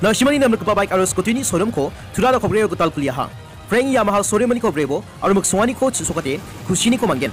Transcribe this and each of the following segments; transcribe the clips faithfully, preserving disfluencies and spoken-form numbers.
Nasimani namrikgipa baik aro scooty-ni showroom-ko Tura Rokobrio gital kuliaha. Frank Yamaha showroom-ni kobrebo aro miksonganiko chisokate kusiniko man·gen.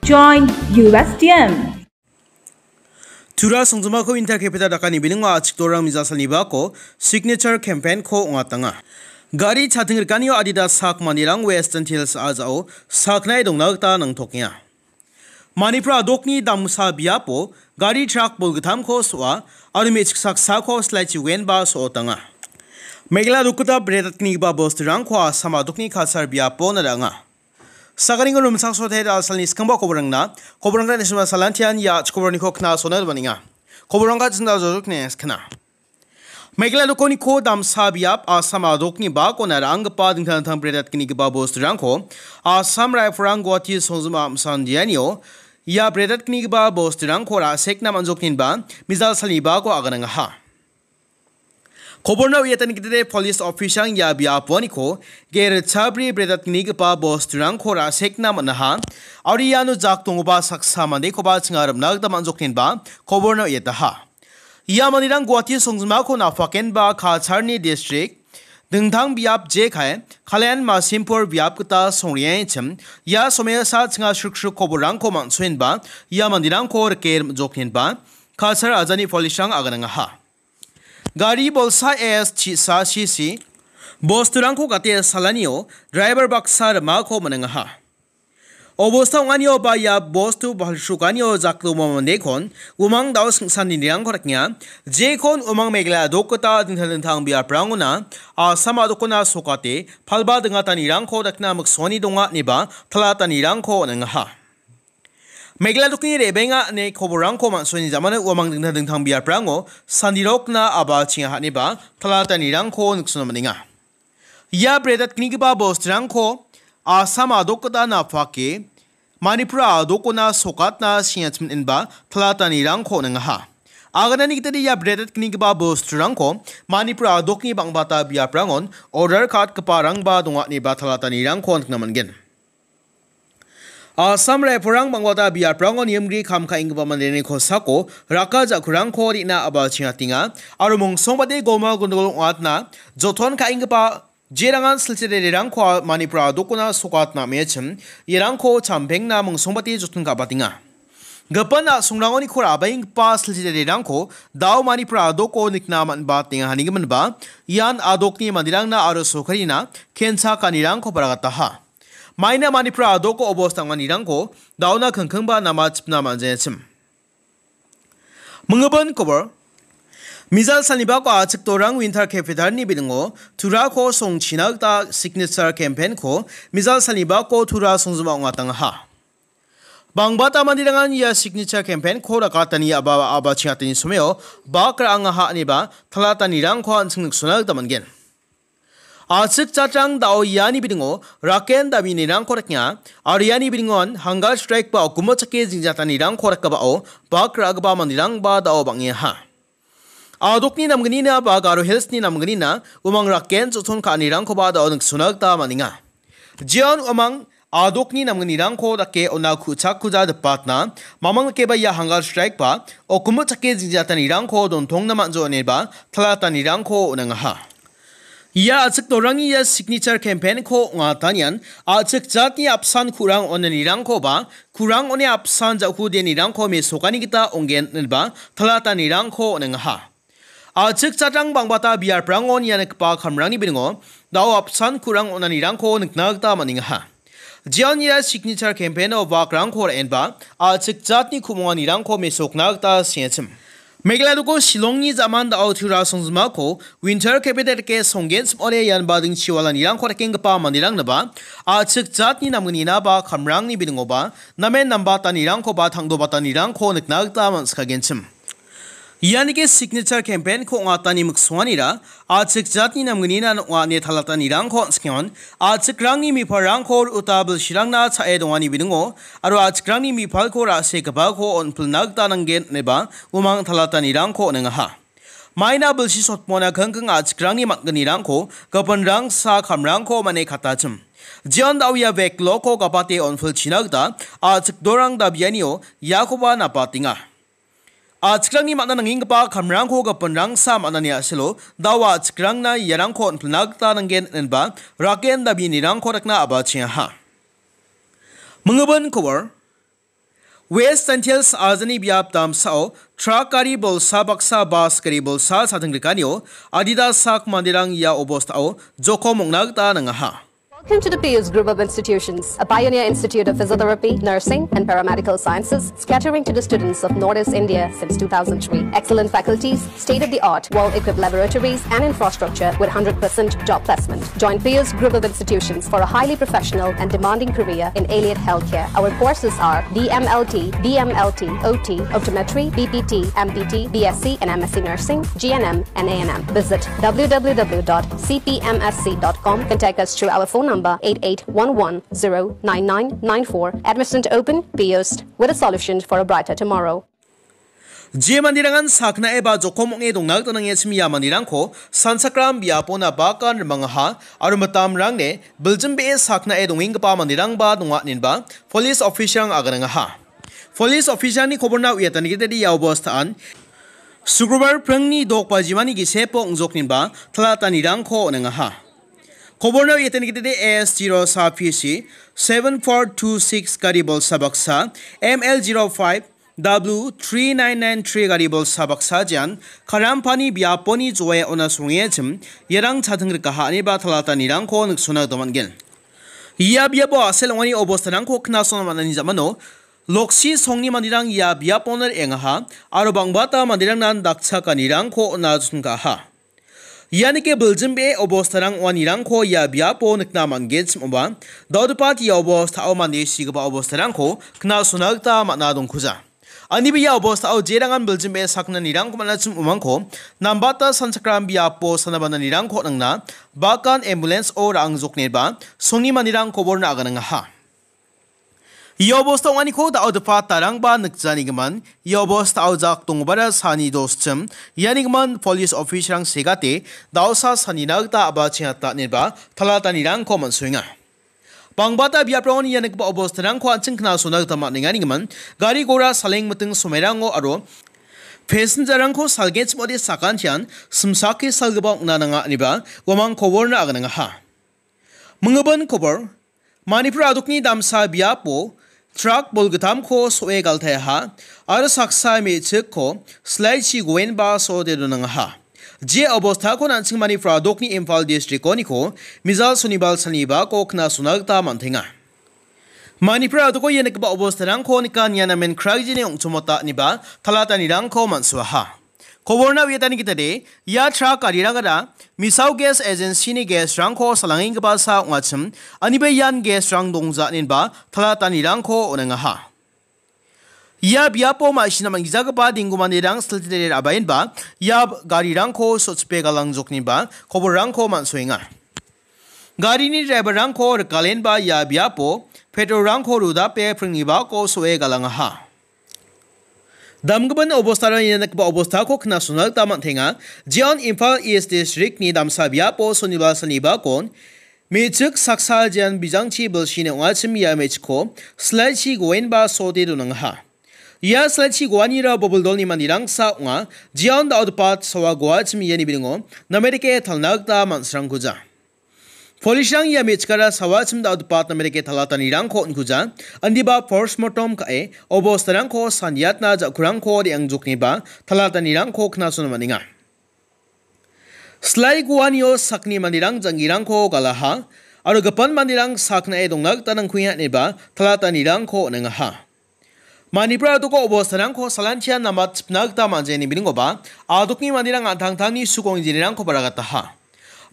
Join U S T M. Tura songjinmako Inter Capital dakani biningo achikdorang mijal salnibako signature campaign-ko ong·atanga. Gari chating rikanio adita sak manderang Western Hills a·jao saknae dongna gita nangtokenga. Manipur a·dokni damsa biapo gari trak bolgittamko so·a aro me·chik saksako silaichi wen·ba so·otanga. Meghalaya a·dokgita bretatgnigipa bosturangko Assam a·dokni culture biapo nara·anga. Sakaringo rimchaksote da·salni skangba koborangna, koborangna nisima salantian ia chikoborniko kna·sona ribaninga. Koborangka chinda jodok ne skna. Meghalaya a·dokniko damsa biap Assam a·dokni bakona ra·anggipa dingtang dingtang bretatgnigipa bosturangko Assam Rifle-rang Guwahati songjinma amsan dianio ia bretatgnigipa bosturangko ra·sekna man·jokninba mijal salni bako aganangaha. Koborna uiatani gitade police officer-rang ia biaponiko ge ritchabri bretatgnigipa bosturangko ra·sekna man·aha. Aro iano jak donggipa saksa mandekoba chinga rimna gita man·jokninba koborna uiataha. Ia manderang Guwahati songjinmako napakenba Cacharni district dingtang biap jekai Kalyan Masimpur biap gita songriaichim ia somesa chinga sriksrik koborrangko man·soenba ia manderangko rike rim·jokninba Cachar ajani police-rang aganangaha. Gari bolsa S chisa C C bosturangko gate salanio driver baksa rimako man·engaha. Obosta ong·anio ba ia bostu balsukanio jakdomo mandekon umang dao singsanirangko dakenga. Jekon umang Meghalaya a·dokgita dingtang dingtang biaprangona Assam a·dokona sokate palba dingatanirangko dakna miksoni donga ineba talatanirangko on·engaha. Meghalaya a·dokni re·benga ine koborrangko man·soni jamano uamang dingtang dingtang biaprango sandirokna aba chinga haniba talatanirangko niksona man·enga. Ia bretatgnigipa bosturangko Assam a·dokgita napake Manipur a·dokona sokatna singachim inba talatanirangko on·engaha. Aganani gitade ia bretatgnigipa bosturangko Manipur a·dokni bang·bata biaprangon order ka·atgiparangba donga ineba talatanirangko nikna man·gen. Assam Rifle-rang bang·bata biaprango niamgri kam ka·enggipa manderangni kosako raka ja·kurangko re·na aba chingatenga aro mongsongbate goma gondogol ong·atna joton ka·enggipa jerangan silchi rererangko Manipur a·dokona sokatna am·echim, iarangko champengna mongsongbate joton ka·batenga. Gipin a·songrangoniko ra·baenggipa silchi rererangko dao Manipur a·doko nikna man·batenga hanigiminba, ian a·dokni manderangna aro sorkarina kencha ka·anirangko baragataha. Maina Manipur a·doko obos dang·anirangko daona kingkingba nama chipna man·jachim. Mingibin kobor. Mijal salnibako achikdorang Winter Capital-ni biningo Turako songchina gita signature campaign-ko mijal salnibako Tura songjinma ong·atangaha. Bang·bata manderangan ia signature campaign-ko rakatani aba-, aba chingatani someo bak ra·angaha ineba talatanirangko an·ching niksona gita man·gen. A·chik jatrang dao iani bidingo raken daminirangko dakenga, aro iani bidingon hunger strike ba okimo chake jingjatanirangko dakgipao bak ra·gipa manderangba dao bang·eha. A·dokni namgnina ba Garo Hills-ni namgnina umang raken joton ka·anirangkoba dao niksona gita man·enga. Jeon umang a·dokni namgnirangko dake ona ku·chakkuja dipatna, mamang dakeba ia hunger strike ba okimo chake jingjatanirangko dontongna man·jo ineba talatanirangko on·angaha. Ia achikdorangni ia signature campaign-ko ong·atanian a·chik jatni apsan kurang onanirangko ba kurang one apsan ja·kudenirangko mesokani gita ong·gen ineba talatanirangko on·angaha. A·chik jatrang bang·bata biaprangon ia nikgipa kamrangni biningo dao apsan kurang onanirangko nikna gita man·engaha. Jeon ia signature campaign-o bakrangko ra·enba a·chik jatni ku·monganirangko mesokna gita sengachim. Meghalaya a·doko Shillongni ja·man dao Tura songjinmako Winter Capital dake songgenchim ong·ode ianba dingchiwalanirangko dakenggipa manderangnaba a·chik jatni namgnina ba kamrangni biningoba namen nambatanirangko ba tangdobatanirangko nikna gita man·sikagenchim. Ianike signature campaign-ko ong·atani miksonganira, a·chik jatni namgnina ong·a ine talatanirangko on·skengon, a·chikrangni mipalrangko uta bilsirangna cha·e dongani biningo, aro a·chikrangni mipalko ra·sekgipako on·pilna gita nanggen ineba umang talatanirangko on·engaha. Maina bilsi sotmona kingking a·chikrangni man·gnirangko gipinrangsa kamrangko mane katachim. Jeon da·o ia vekloko gapate on·pilchina gita a·chik dorang dabianio iakoba napatenga. A·chikrangni man·a nangenggipa kamrangko gipinrangsa man·ani a·selo, da·o a·chikrangna iarangko on·pilna gita nanggen ineba raken dabianirangko dakna a·bachengaha. Mingibin kobor. West Jaintia Hills ajani biap damsao trak gari bolsa baksa bas gari bolsa chadingrikanio adita sak manderang ia obostao jokom ong·na gita nangaha. Welcome to the Pius Group of Institutions, a pioneer institute of physiotherapy, nursing, and paramedical sciences, catering to the students of Northeast India since two thousand three. Excellent faculties, state-of-the-art, well-equipped laboratories, and infrastructure with hundred percent job placement. Join Pius Group of Institutions for a highly professional and demanding career in allied healthcare. Our courses are D M L T, B M L T, O T, optometry, B P T, M P T, B S C and M S C nursing, G N M, and A N M. Visit W W W dot C P M S C dot com. Contact us through our phone number eight eight one one zero nine nine nine four. Admission open, Pius, with a solution for a brighter tomorrow. Je manderangan saknae ba jokom ong·e dongna gita nange chim ia manderangko sanchakram biapona bakan rimangaha aro mitamrangne biljim be·e saknae dongenggipa manderangba donga inenba police official-rang aganangaha. Police official-ni koborna uiatani gitade ia obostaan Sukrobar pringni dok bajimani gisepo ong·jokninba talatanirangko on·engaha. Koborna uiatani gitade A S zero sa P C seven four two six gari bolsa baksa, M L zero five W three nine nine three gari bolsa baksa jean Karampani biaponi joe ona songechim, iarang chating rikaha ineba talatanirangko niksona gita man·gen. Ia biapo a·sel ong·ani obostarangko knasona man·ani jamano, loksi songni manderang ia biapon re·engaha, aro bangbata manderangnan dakchakanirangko on·a chonkaha. Ianike biljim be·e obostarang ong·anirangko ia biapo nikna man·genchim ong·ba, dal·gipa ia obostao mande sigipa obostarangko knasona gita man·a dongkuja. Aniba ia obostao jerangan biljim be·e saknanirangko man·achim ong·mangko nambata sanchakram biapo sanabananirangko nangna bakan ambulance-o ra·angjokneba songni manderang koborna aganangaha. Ia obosta ong·aniko dal·gipa tarangba nikjanigimin, ia obostao jak dongbara sani doschim, ianigimin police officer-rang segate, da·osa sanina gita a·bachengata ineba talatanirangko man·soenga. Bangbata biaprangoni ia nikgipa obostarangko an·ching knasona gita man·enganigimin, gari gora saleng miting somerango aro passenger-rangko salgenchimode sakantian simsake salgipa ong·na nanga ineba uamang koborna aganangaha. Mingibin kobor, Manipur adokni damsa biapo trak bolgittamko so·e galtaeha aro saksa me·chikko slide-chi goenba so·ode donangaha. Je obostako an·ching Manipur adokni Imphal district-oniko mijal sonibal salnibako knasona gita man·tenga. Manipur adoko ia nikgipa obostarangko nika nia namen kraigijini ong·chomota ineba talatanirangko man·suaha. Koborna uiatani gitade, ia trak garirangara Misao Gas Agency-ni gas-rangko salangenggipa sa ong·achim, aniba ian gas-rang dongja inenba talatanirangko on·engaha. Ia biapo ma·sina man·gijagipa dinggu manderang siltide ra·baenba ia garirangko so·chipe galangjokniba koborrangko man·soenga. Garini driver-rangko rikalenba ia biapo petrol-rangko rudape pringnibako so·e galangaha. Damgimin obostara ia nikgipa obostako knasona gita man·tenga. Jeon Imphal East District-ni damsa biapo sonibal salnibakon me·chik saksa jeon bijangchi bilsini ong·achim ia me·chikko slide-chi goenba so·ode donangaha. Ia slide-chi goanira bobil dolni manderangsa ong·a. Jeon dal·gipa sawa goachim iani bilingo namerike talna gita man·srangkuja. Police-rang ia me·chikara sawachim dal·gipa namerike talatanirangko on·kuja, indiba postmortem ka·e, obostarangko saniatna ja·kurangko re·angjokniba talatanirangko knasona man·enga. Slide goanio sakni manderang jang·girangko galaha, aro gipin manderang saknae dongna gita nangkuenga ineba talatanirangko on·engaha. Manipur adoko obostarangko salantian namatchipna gita man·jeni biningoba, adokni manderang an·tangtangni sukong jinirangkoba ragataha.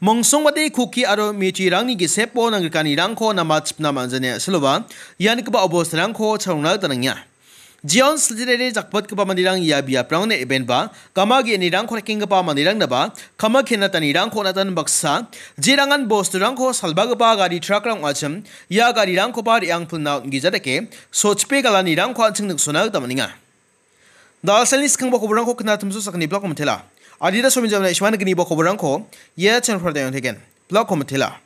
Mongsongbate Kuki aro Meiteirangni gisepo nangrikanirangko namatchipna man·jani a·seloba, ia nikgipa obostarangko chalongna gita nangenga. Jeon silchirere jakbatgipa manderang ia biaprangni ebenba gama ge·anirangko rekenggipa manderangnaba kama kenatanirangko on·atan baksa jerangan bosturangko salbagipa gari truckrang ong·achim ia garirangkoba re·angpilna on·gija dake sochipe galanirangko an·ching niksona gita man·enga. Dalsalni skangba koborangko knatimso sakgni blako mitela. Adita sominjamna ismana gniba koborangko ia channel pradayong teken. Blako mitela.